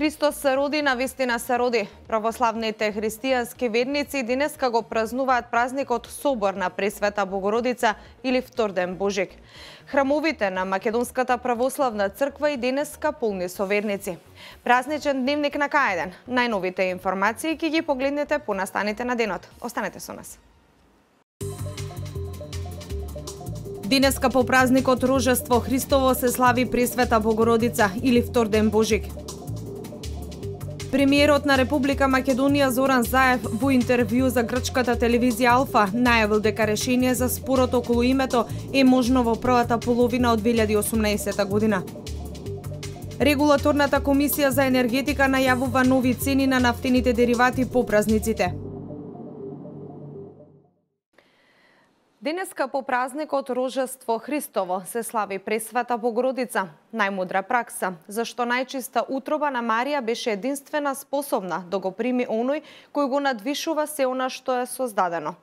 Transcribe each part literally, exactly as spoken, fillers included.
Христос се роди, навистина се роди. Православните христијански верници денеска го празнуваат празникот Собор на Пресвета Богородица или Вторден Божик. Храмовите на Македонската православна црква и денеска полни со верници. Празничен дневник на К еден. Најновите информации ќе ги погледнете по настаните на денот. Останете со нас. Денеска по празникот Рождество Христово се слави Пресвета Богородица или Вторден Божик. Премиерот на Република Македонија Зоран Заев во интервју за грчката телевизија Алфа најавил дека решение за спорот околу името е можно во првата половина од две илјади и осумнаесета година. Регулаторната комисија за енергетика најавува нови цени на нафтените деривати по празниците. Денеска по празникот Рождество Христово се слави Пресвета Богородица, најмудра пракса, зашто најчиста утроба на Марија беше единствена способна да го прими оној кој го надвишува се она што е создадено.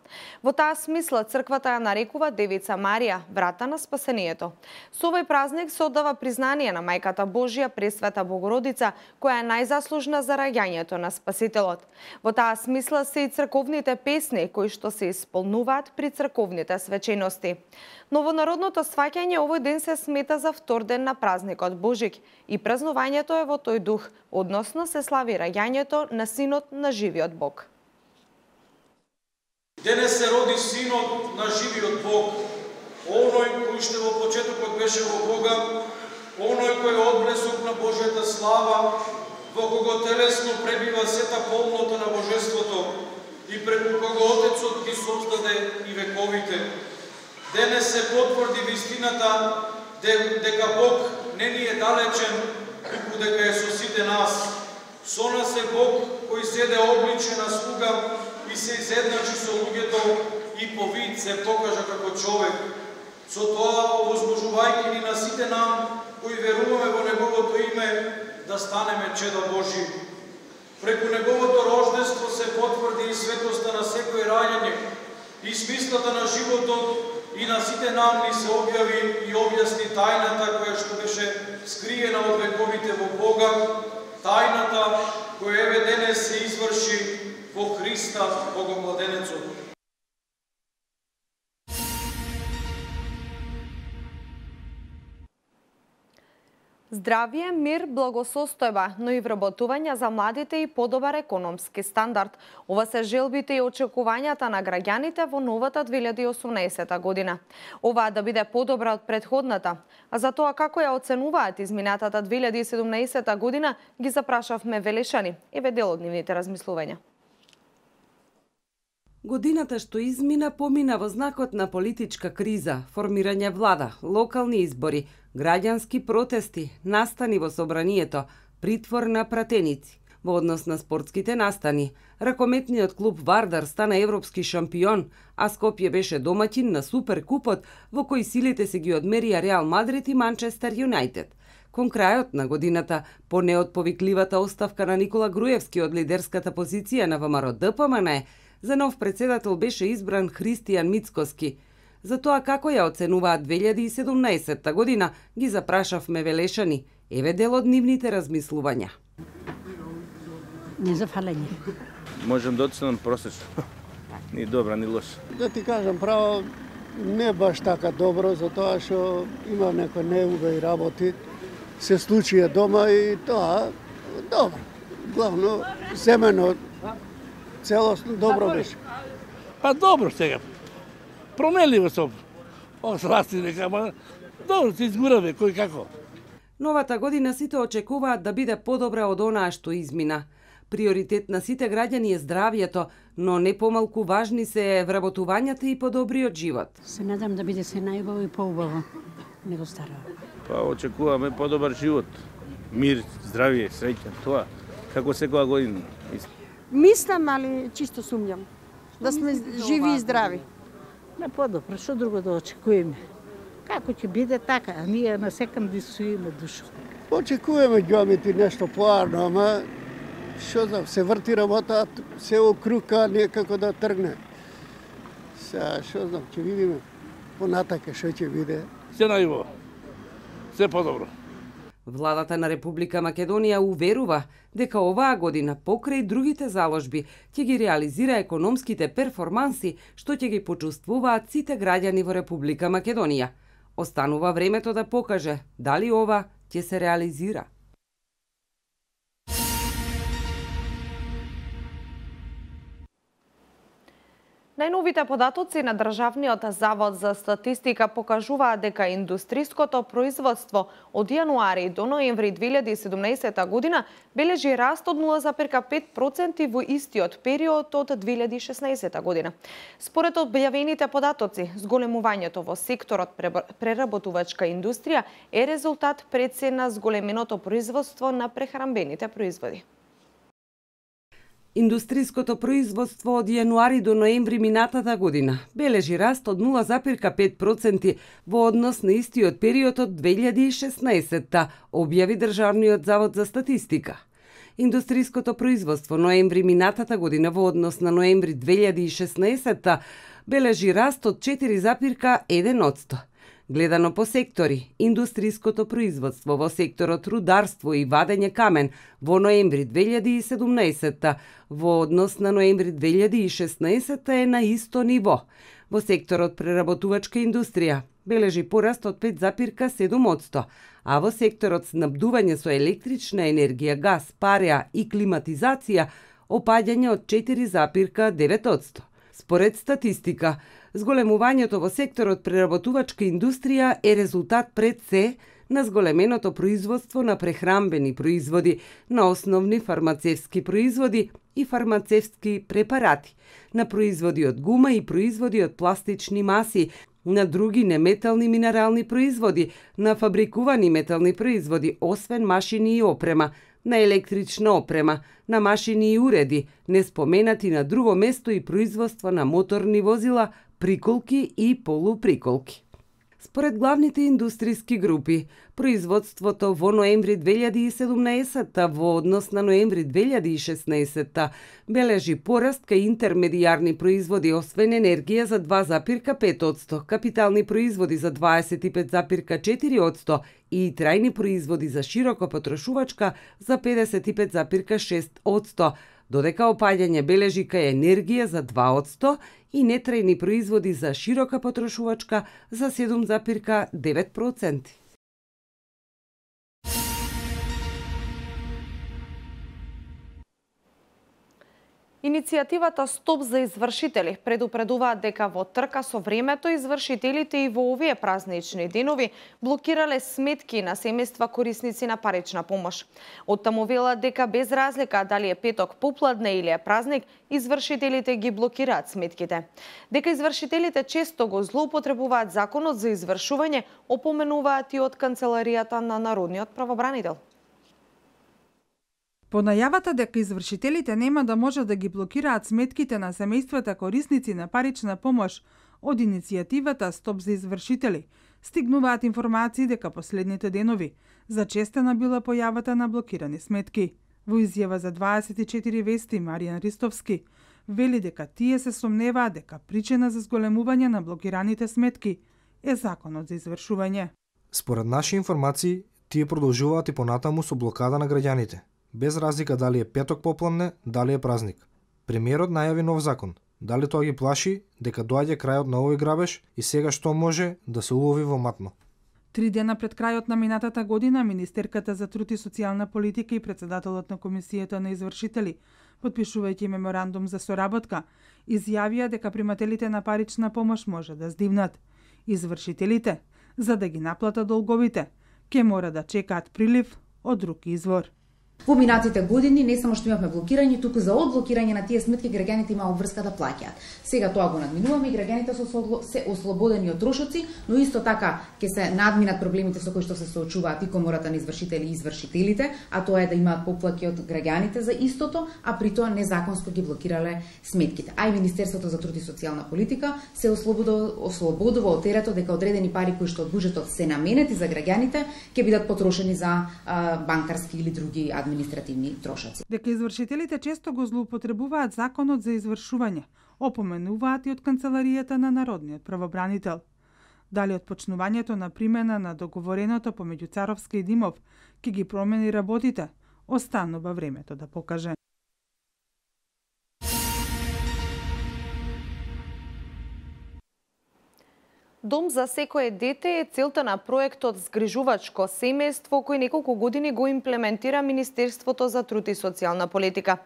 Во таа смисла црквата ја нарекува Девица Марија, врата на спасението. Со овој празник се оддава признание на Мајката Божја Пресвета Богородица, која е најзаслужна за раѓањето на Спасителот. Во таа смисла се и црковните песни кои што се исполнуваат при црковните свечености. Новонародното сваќање овој ден се смета за втор ден на празникот Божик и празнувањето е во тој дух, односно се слави раѓањето на Синот на живиот Бог. Денес се роди Синот на живиот Бог, оној кој што во почетокот беше во Бога, оној кој е одблесок на Божјата слава, во кого телесно пребива сета полнота на Божеството и преку кого Отецот ги создаде и вековите. Денес се потврди вистината дека Бог не ни е далечен, туку дека е со сите нас. Со нас е Бог кој седе обличен на слуга и се изедначи со луѓето и по вид се покажа како човек. Со тоа овозможувајќи ни на сите нам кои веруваме во Неговото име да станеме чеда Божи. Преку Неговото рождество се потврди и светоста на секој раѓање, и смислата на животот, и на сите нам ни се објави и објасни тајната која што беше скриена од вековите во Бога, тајната која еве денес се изврши во Христа, Богомладенецот. Здравје, мир, благосостојба, но и вработување за младите и подобар економски стандард. Ова се желбите и очекувањата на граѓаните во новата две илјади и осумнаесета година. Ова да биде подобра од претходната. А за тоа како ја оценуваат изминатата две илјади и седумнаесета година, ги запрашавме Велешани. Еве дел од нивните размислувања. Годината што измина помина во знакот на политичка криза, формирање влада, локални избори, граѓански протести, настани во собранието, притвор на пратеници. Во однос на спортските настани, ракометниот клуб Вардар стана европски шампион, а Скопје беше домаќин на Суперкупот, во кој силите се ги одмерија Реал Мадрид и Манчестер Юнајтед. Кон крајот на годината, по неотповикливата оставка на Никола Груевски од лидерската позиција на ВМРО Д П М Н, за нов председател беше избран Христијан Мицкоски. За тоа како ја оценуваат две илјади и седумнаесета година, ги запрашавме Велешани. Еве дел од нивните размислувања. Незафалење. Можем да оценам просечно. Ни добра, ни лоша. Да ти кажам право, не баш така добро, затоа што има некои неубави работи. Се случија дома и тоа добро. Главно семено целосно добро беше. Па добро сега. Променливо со осласти дека, ама добро се изгураве кој како. Новата година сите очекуваат да биде подобра од онаа што измина. Приоритет на сите граѓани е здравјето, но не помалку важни се вработувањата и подобриот живот. Се надам да биде се најубаво и поубаво него старо. Па очекуваме подобар живот, мир, здравје, среќа, тоа како секоја година. Мислам, али чисто сумњам. Да сме живи и здрави. Не подобро, што друго да очекуваме? Како ќе биде така, а ние на секам дисуиме душа. Очекуваме ѓамити нешто поарно, ама што знам, се врти работа, се окрука некако да тргне. Сега, што знам, ќе видиме понатака што ќе биде. Се најубаво, се подобро. Владата на Република Македонија уверува дека оваа година покрај другите заложби ќе ги реализира економските перформанси што ќе ги почувствуваат сите граѓани во Република Македонија. Останува времето да покаже дали ова ќе се реализира. Најновите податоци на Државниот завод за статистика покажуваат дека индустриското производство од јануари до ноември две илјади и седумнаесета година бележи раст од нула зарез пет проценти во истиот период од две илјади и шеснаесета година. Според објавените податоци, зголемувањето во секторот преработувачка индустрија е резултат пред се на зголеменото производство на прехранбените производи. Индустриското производство од јануари до ноември минатата година бележи раст од нула зарез пет проценти во однос на истиот период од две илјади и шеснаесета, објави Државниот завод за статистика. Индустриското производство ноември минатата година во однос на ноември две илјади и шеснаесета бележи раст од четири зарез еден проценти. Гледано по сектори, индустриското производство во секторот рударство и вадење камен во ноември две илјади и седумнаесета во однос на ноември две илјади и шеснаесета е на исто ниво. Во секторот преработувачка индустрија бележи пораст од пет зарез седум проценти, а во секторот снабдување со електрична енергија, газ, пареа и климатизација опаѓање од четири зарез девет проценти. Според статистика, зголемувањето во секторот преработувачка индустрија е резултат пред се на зголеменото производство на прехранбени производи, на основни фармацевски производи и фармацевски препарати, на производи од гума и производи од пластични маси, на други неметални минерални производи, на фабрикувани метални производи, освен машини и опрема, на електрична опрема, на машини и уреди, не споменати на друго место и производство на моторни возила, приколки и полуприколки. Според главните индустријски групи, производството во ноември две илјади и седумнаесета во однос на ноември две илјади и шеснаесета бележи пораст кај интермедијарни производи, освен енергија за два зарез пет проценти, капитални производи за дваесет и пет зарез четири проценти и трајни производи за широко потрошувачка за педесет и пет зарез шест проценти, додека опаѓање бележи кај енергија за два проценти и нетрајни производи за широка потрошувачка за седум зарез девет проценти. Иницијативата Стоп за извршители предупредуваат дека во трка со времето извршителите и во овие празнични денови блокирале сметки на семејства корисници на парична помош. Оттаму велат дека без разлика дали е петок попладне или е празник, извршителите ги блокираат сметките. Дека извршителите често го злоупотребуваат законот за извршување, опоменуваат и од канцеларијата на Народниот правобранител. По најавата дека извршителите нема да можат да ги блокираат сметките на семејствата корисници на парична помош од иницијативата Стоп за извршители, стигнуваат информации дека последните денови зачестена била појавата на блокирани сметки. Во изјава за дваесет и четири вести Маријан Ристовски вели дека тие се сомневаат дека причина за зголемување на блокираните сметки е законот за извршување. Според наши информации, тие продолжуваат и понатаму со блокада на граѓаните, без разлика дали е петок попладне, дали е празник. Премиерот најави нов закон. Дали тоа ги плаши дека доаѓа крајот на овој грабеж и сега што може да се улови во матно. Три дена пред крајот на минатата година, министерката за труд и социјална политика и председателот на комисијата на извршители, потпишувајќи меморандум за соработка, изјавија дека примателите на парична помош може да здивнат. Извршителите, за да ги наплатат долговите, ќе мора да чекаат прилив од друг извор. Во минатите години не само што имавме блокирање, туку за одблокирање на тие сметки граѓаните имаа обврска да плаќаат. Сега тоа го надминуваме и граѓаните се ослободени од трошоци, но исто така ќе се надминат проблемите со кои што се соочуваат и комората на извршители и извршителите, а тоа е да имаат поплаки од граѓаните за истото, а при тоа незаконско ги блокирале сметките. А и Министерството за труд и социјална политика се ослободува, ослободува од теретот дека одредени пари кои што од буџетот се наменети за граѓаните ќе бидат потрошени за а, банкарски или други административни трошоци. Дека извршителите често го злоупотребуваат законот за извршување, опоменуваат и од канцеларијата на Народниот правобранител. Дали од почнувањето на примена на договореното помеѓу Царовска и Димов ќе ги промени работите, останува времето да покаже. Дом за секое дете е целта на проектот Згрижувачко семејство кој неколку години го имплементира Министерството за труд и социјална политика.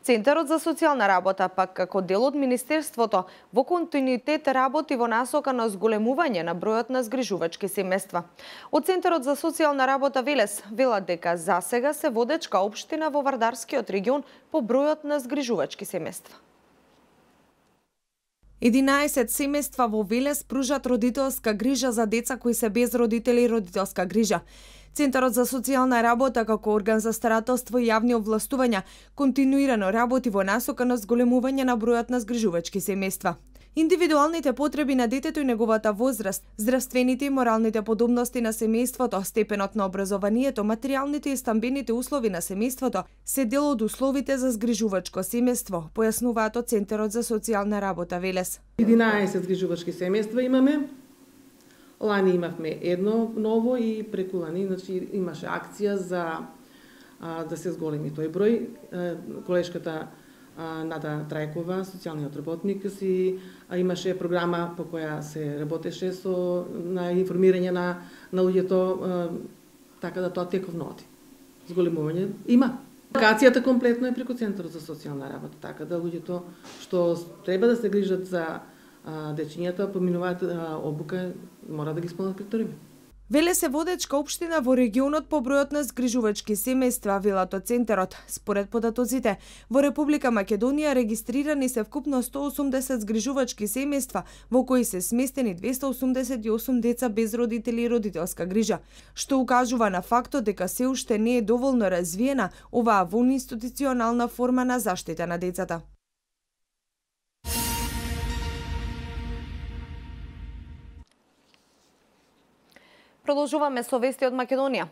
Центарот за социјална работа пак како дел од Министерството во континуитет работи во насока на зголемување на бројот на згрижувачки семејства. Од Центарот за социјална работа Велес велат дека засега се водечка општина во Вардарскиот регион по бројот на згрижувачки семејства. единаесет семејства во Велес пружат родителска грижа за деца кои се без родители и родителска грижа. Центарот за социјална работа како орган за старателство и јавни овластувања континуирано работи во насока на зголемување на бројот на згрижувачки семејства. Индивидуалните потреби на детето и неговата возраст, здравствените и моралните подобности на семејството, степенот на образованието, материјалните и стамбените услови на семејството се дел од условите за згрижувачко семејство, појаснуваат од Центарот за социјална работа Велес. единаесет згрижувачки семејства имаме. Лани имавме едно ново и преку лани, значи имаше акција за а, да се зголеми тој број. Колешката Нада Трајкова, социјалниот работник, си а, имаше програма по која се работеше со на информирање на на луѓето, а, така да тоа тековно оди. Зголемување има. Акацијата комплетно е преку Центарот за социјална работа, така да луѓето што треба да се грижат за а, дечињата, поминуваат а, обука, мора да ги исполнат критериуми. Велес е водечка општина во регионот по бројот на згрижувачки семејства, велат од Центарот. Според податоците, во Република Македонија регистрирани се вкупно сто осумдесет згрижувачки семејства, во кои се сместени двесте осумдесет и осум деца без родители и родителска грижа, што укажува на фактот дека се уште не е доволно развиена оваа вонинституционална форма на заштита на децата. Продолжуваме со вести од Македонија.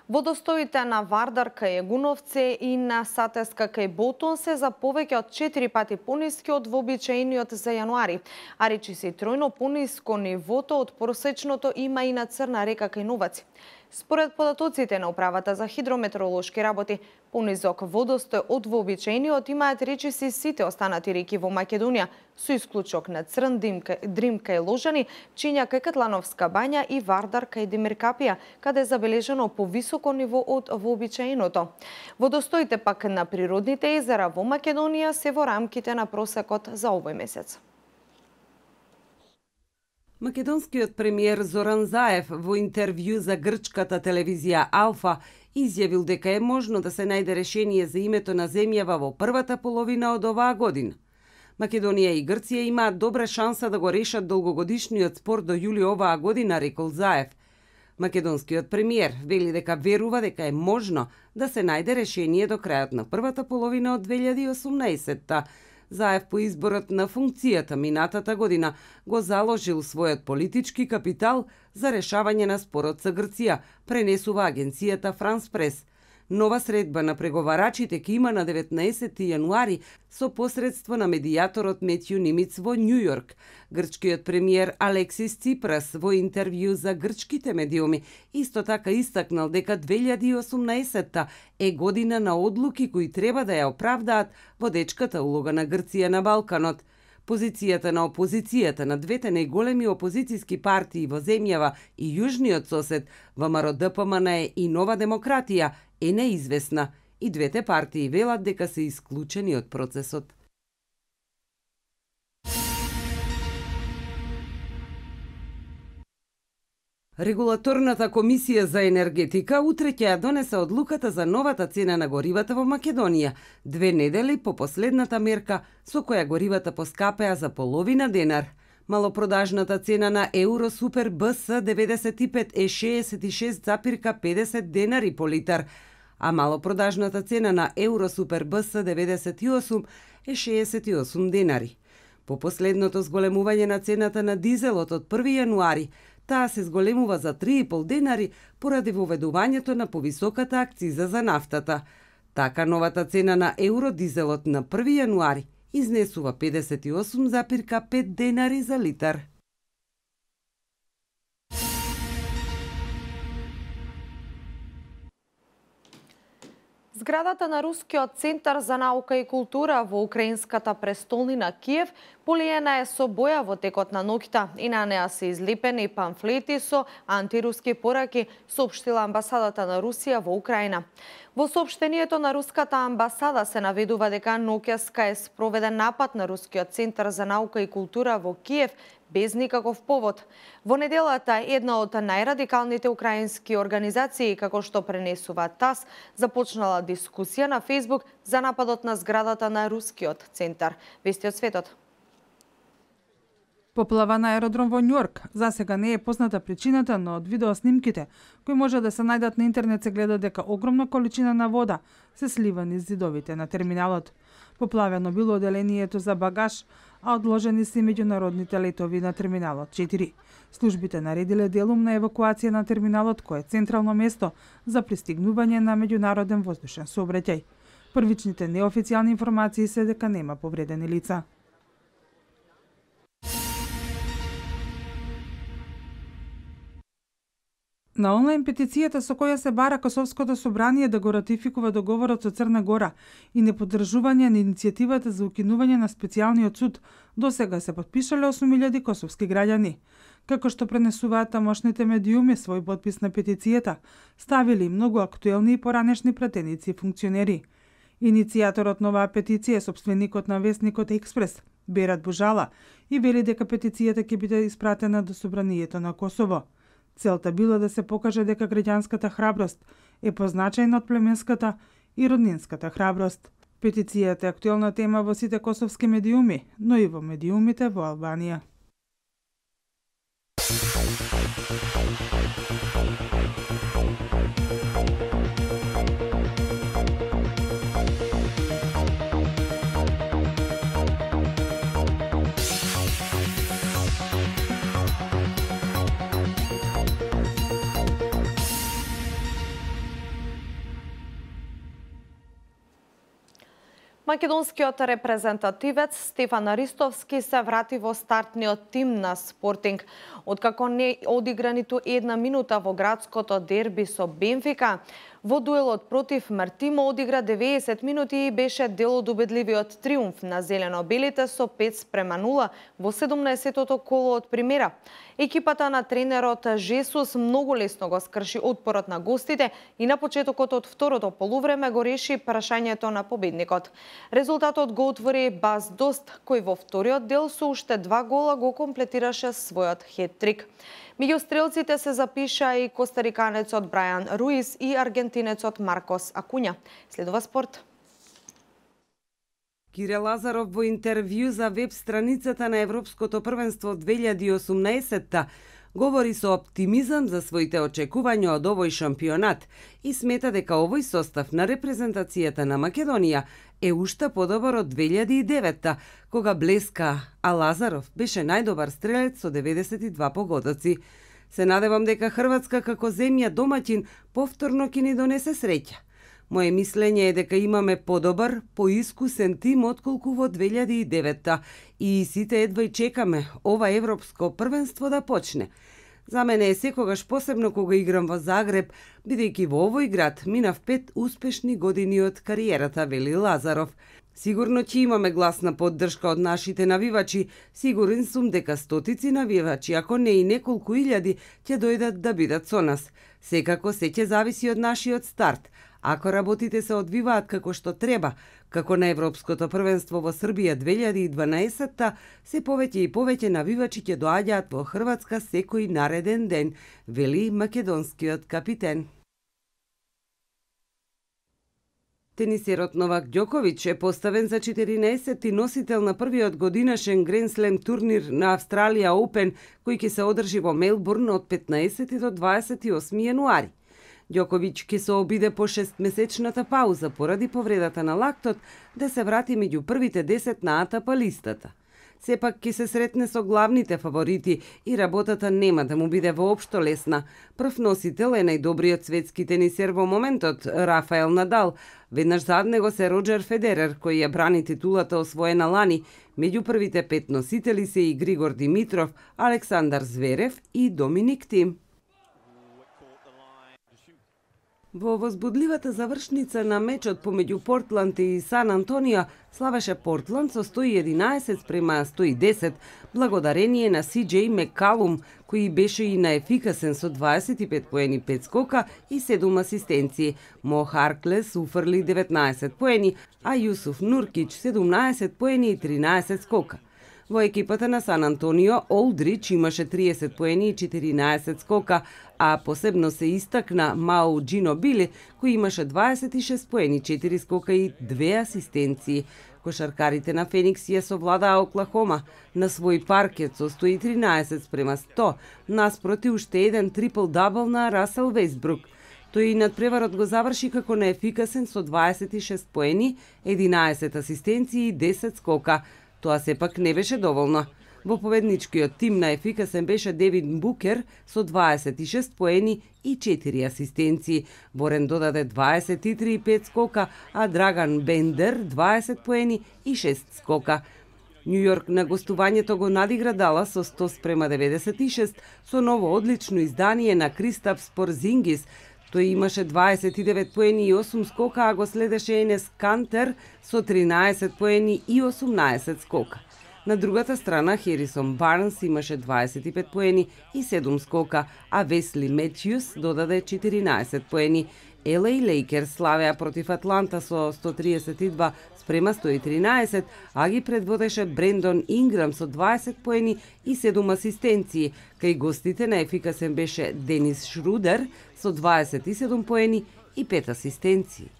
Водостоите на Вардар кај Егуновце и на Сатеска кај Ботон се за повеќе од четири пати пониски од вообичаениот за јануари, а речиси се тројно пониско нивото од просечното има и на Црна река кај Новаци. Според податоците на Управата за хидрометеоролошки работи, понизок водостој од вообичаениот имаат речиси сите останати реки во Македонија, со исклучок на Црн, Дрим кај Ложани, Чинја кај Катлановска бања и Вардар кај Демиркапија, каде е забележано повисоко ниво од вообичаеното. Водостоите пак на природните езера во Македонија се во рамките на просекот за овој месец. Македонскиот премиер Зоран Заев во интервју за грчката телевизија Алфа изјавил дека е можно да се најде решение за името на земјава во првата половина од оваа година. Македонија и Грција имаат добра шанса да го решат долгогодишниот спор до јули оваа година, рекол Заев. Македонскиот премиер вели дека верува дека е можно да се најде решение до крајот на првата половина од две илјади и осумнаесетта. Заев по изборот на функцијата минатата година го заложил својот политички капитал за решавање на спорот со Грција, пренесува агенцијата Франс Прес. Нова средба на преговарачите ќе има на деветнаесети јануари со посредство на медијаторот Метју Нимиц во Њу Јорк. Грчкиот премиер Алексис Ципрас во интервју за грчките медиуми исто така истакнал дека две илјади и осумнаесетта е година на одлуки кои треба да ја оправдаат водечката улога на Грција на Балканот. Позицијата на опозицијата на двете најголеми опозицијски партии во земјава и јужниот сосед, ВМРО Д П М Н и Нова демократија, е неизвестна и двете партии велат дека се исклучени од процесот. Регулаторната комисија за енергетика утре ќе ја донесе одлуката за новата цена на горивата во Македонија, две недели по последната мерка со која горивата поскапеа за половина денар. Малопродажната цена на Евро Супер Б С деветдесет и пет е шеесет и шест запирка педесет денари по литар, а малопродажната цена на Евро Супер Б С деветдесет и осум е шеесет и осум денари. По последното зголемување на цената на дизелот од први јануари, таа се зголемува за три и пол денари поради воведувањето на повисоката акциза за нафтата. Така новата цена на евродизелот на први јануари изнесува педесет и осум запирка пет денари за литар. Зградата на Рускиот центар за наука и култура во украинската престолнина Киев полиена е со боја во текот на ноќта и на неа се излепени памфлети со антируски пораки, соопштила амбасадата на Русија во Украина. Во соопштението на руската амбасада се наведува дека ноќеска е спроведен напад на Рускиот центар за наука и култура во Киев без никаков повод. Во неделата една од најрадикалните украински организации, како што пренесува ТАСС, започнала дискусија на Фејсбук за нападот на зградата на Рускиот центар. Вести од светот. Поплава на аеродром во Њујорк. За сега не е позната причината, но од видеоснимките кои може да се најдат на интернет се гледа дека огромна количина на вода се слива низ зидовите на терминалот. Поплавено било оделението за багаж, а одложени се меѓународните летови на терминалот четири. Службите наредиле делумна евакуација на терминалот, кој е централно место за пристигнување на меѓународен воздушен сообраќај. Првичните неофицијални информации се дека нема повредени лица. На онлайн петицијата со која се бара Косовското собрание да го ратификува договорот со Црна Гора и неподржување на иницијативата за укинување на специјалниот суд, досега се потпишале осум илјади косовски граѓани. Како што пренесуваат тамошните медиуми, свој подпис на петицијата ставили многу актуелни и поранешни пратеници и функционери. Иницијаторот на оваа петиција е сопственикот на весникот Експрес, Берат Бужала, и вели дека петицијата ќе биде испратена до Собранието на Косово. Целта била да се покаже дека граѓанската храброст е позначајна од племенската и роднинската храброст. Петицијата е актуелна тема во сите косовски медиуми, но и во медиумите во Албанија. Македонскиот репрезентативец Стефан Ристовски се врати во стартниот тим на Спортинг. Откако не одигра ниту една минута во градското дерби со Бенфика, во дуелот против Мартимо одигра деветдесет минути и беше дел од убедливиот триумф на зелено-белите со пет спрема нула во седумнаесеттото коло од примера. Екипата на тренерот Жесус многу лесно го скрши отпорот на гостите и на почетокот од второто полувреме го реши прашањето на победникот. Резултатот го отвори Баз Дост, кој во вториот дел со уште два гола го комплетираше својот хет-трик. Меѓу стрелците се запиша и костариканецот Брајан Руис и аргентинецот Маркос Акуња. Следува спорт. Кире Лазаров во интервју за веб страницата на Европското првенство две илјади и осумнаесетта говори со оптимизам за своите очекувања од овој шампионат и смета дека овој состав на репрезентацијата на Македонија е уште подобар од две илјади и деветта, кога блеска, а Лазаров беше најдобар стрелец со деветдесет и два погодоци. Се надевам дека Хрватска како земја домаќин повторно ќе ни донесе среќа. Моje мислење е дека имаме подобар, поискусен тим отколку во две илјади и деветта и сите едва и чекаме ова европско првенство да почне. За мене е секогаш посебно кога играм во Загреб, бидејќи во овој град минав пет успешни години од кариерата, вели Лазаров. Сигурно ќе имаме гласна поддршка од нашите навивачи, сигурен сум дека стотици навивачи, ако не и неколку илјади, ќе дојдат да бидат со нас. Секако се ќе зависи од нашиот старт. Ако работите се одвиваат како што треба, како на Европското првенство во Србија две илјади и дванаесетта, се повеќе и повеќе навивачи ќе доаѓаат во Хрватска секој нареден ден, вели македонскиот капитен. Тенисерот Новак Ѓоковиќ е поставен за четиринаесетти носител на првиот годинашен Гранд Слем турнир на Австралија Оупен, кој ќе се одржи во Мелбурн од петнаесети до дваесет и осми јануари. Ѓоковиќ ќе се обиде по шестмесечната пауза поради повредата на лактот да се врати меѓу првите десет на АТП листата. Сепак ќе се сретне со главните фаворити и работата нема да му биде воопшто лесна. Прв носител е најдобриот светски тенисер во моментот, Рафаел Надал. Веднаш зад него се Роџер Федерер, кој ја брани титулата освоена лани. Меѓу првите пет носители се и Григор Димитров, Александар Зверев и Доминик Тим. Во возбудливата завршница на мечот помеѓу Портланд и Сан Антонио славеше Портланд со сто и единаесет спрема сто и десет, благодарение на Си Џеј Мекалум, кој беше и наефикасен со дваесет и пет поени, пет скока и седум асистенции. Мо Харклес уфрли деветнаесет поени, а Јусуф Нуркич седумнаесет поени и тринаесет скока. Во екипата на Сан Антонио, Олдрич имаше триесет поени и четиринаесет скока, а посебно се истакна Мау Џинобили, кој имаше дваесет и шест поени, четири скока и две асистенции. Кошаркарите на Феникс ја совладаа Оклахома на свој паркет со сто и тринаесет спрема сто, наспроти уште еден трипл-дабл на Расел Вејсбрук. Тој и надпреварот го заврши како неефикасен со дваесет и шест поени, единаесет асистенции и десет скока. Тоа сепак не беше доволно. Во победничкиот тим на ефикасен беше Девин Букер со дваесет и шест поени и четири асистенции. Борен додаде дваесет и три и пет скока, а Драган Бендер дваесет поени и шест скока. Њу Јорк на гостувањето го надигра Далас со сто спрема деветдесет и шест со ново одлично издание на Кристапс Порзингис. Тој имаше дваесет и девет поени и осум скока, а го следеше Енес Кантер со тринаесет поени и осумнаесет скока. На другата страна Херисон Барнс имаше дваесет и пет поени и седум скока, а Весли Метјус додаде четиринаесет поени. Ел Ей Лейкерс славеа против Атланта со сто триесет и два спрема сто и тринаесет, а ги предводеше Брендон Инграм со дваесет поени и седум асистенции. Кај гостите наефикасен беше Денис Шрудер со дваесет и седум поени и пет асистенции.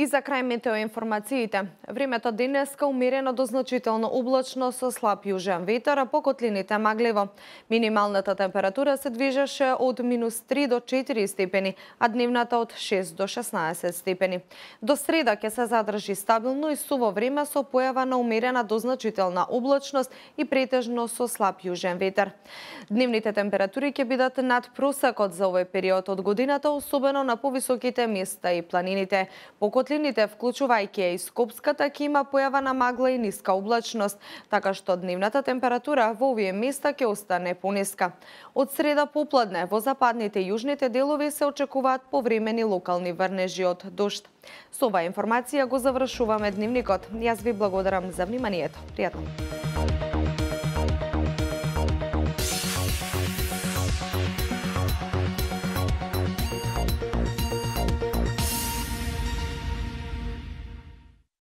И за крај метеоинформациите. Времето денеска умерено до значително облачно со слаб јужен ветер, а по котлините магливо. Минималната температура се движеше од минус три до четири степени, а дневната од шест до шеснаесет степени. До среда ќе се задржи стабилно и суво време со појава на умерена до значителна облачност и претежно со слаб јужен ветер. Дневните температури ќе бидат над просекот за овој период од годината, особено на повисоките места и планините. По котлините, вклучувајќи и Скопската, ќе има појава на магла и ниска облачност, така што дневната температура во овие места ќе остане пониска. Од среда попладне во западните и јужните делови се очекуваат повремени локални врнежи од дожд. Со оваа информација го завршуваме дневникот. Јас ви благодарам за вниманието. Пријатно.